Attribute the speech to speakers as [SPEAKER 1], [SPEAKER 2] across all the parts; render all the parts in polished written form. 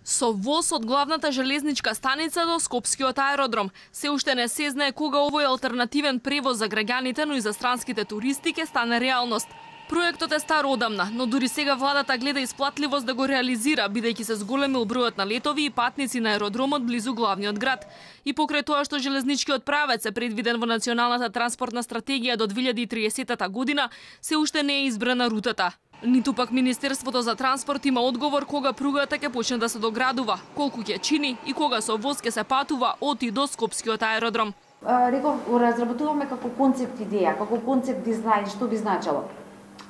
[SPEAKER 1] Со воз од главната железничка станица до Скопскиот аеродром. Се уште не се знае кога овој алтернативен превоз за граѓаните, но и за странските туристи ќе стане реалност. Проектот е стар одамна, но дури сега владата гледа исплатливост да го реализира, бидејќи се зголемил бројот на летови и патници на аеродромот близу главниот град. И покрај тоа што железничкиот правец е предвиден во Националната транспортна стратегија до 2030 година, се уште не е избрана рутата. Ниту пак Министерството за транспорт има одговор кога пругата ќе почне да се доградува, колку ќе чини и кога со воз ќе се патува од и до Скопскиот аеродром.
[SPEAKER 2] Реков, разработуваме како концепт идеја, како концепт дизајн, што би значило.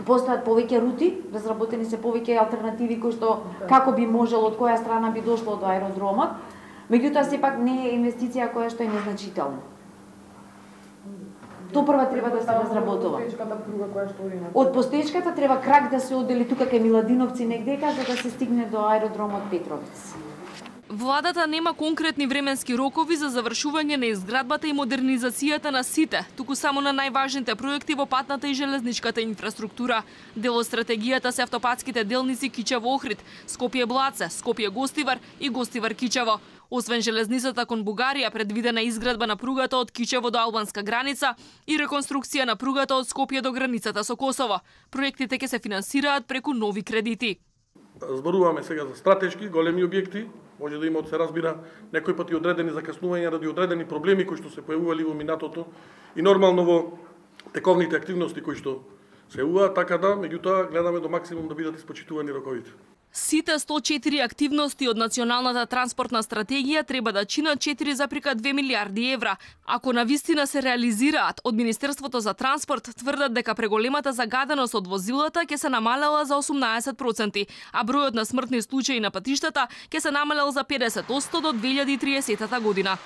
[SPEAKER 2] Постојат повеќе рути, разработени се повеќе алтернативи кои што како би можело, од која страна би дошло до аеродромот, меѓутоа сепак не е инвестиција која што е незначителна. Тоа прва треба да се разработува. Од постоечката треба крак да се одели тука кај Миладиновци негдека за да се стигне до аеродромот Петровец.
[SPEAKER 1] Владата нема конкретни временски рокови за завршување на изградбата и модернизацијата на сите, туку само на најважните проекти во патната и железничката инфраструктура. Дел од стратегијата се автопатските делници Кичево-Охрид, Скопје-Блаце, Скопје-Гостивар и Гостивар-Кичево. Освен железницата кон Бугарија, предвидена изградба на пругата од Кичево до албанска граница и реконструкција на пругата од Скопје до границата со Косово. Проектите ќе се финансираат преку нови кредити.
[SPEAKER 3] Зборуваме сега за стратешки големи објекти, може да има, се разбира, некои пати одредени закаснувања ради одредени проблеми кои што се појавували во минатото и нормално во тековните активности кои што се јавуваат, така да, меѓутоа гледаме до максимум да бидат испочитувани роковите.
[SPEAKER 1] Сите 104 активности од Националната транспортна стратегија треба да чинат 4,2 милиарди евра. Ако навистина се реализираат, од Министерството за транспорт тврдат дека преголемата загаденост од возилата ќе се намалела за 18%, а бројот на смртни случаи на патиштата ќе се намалел за 50% до 2030 година.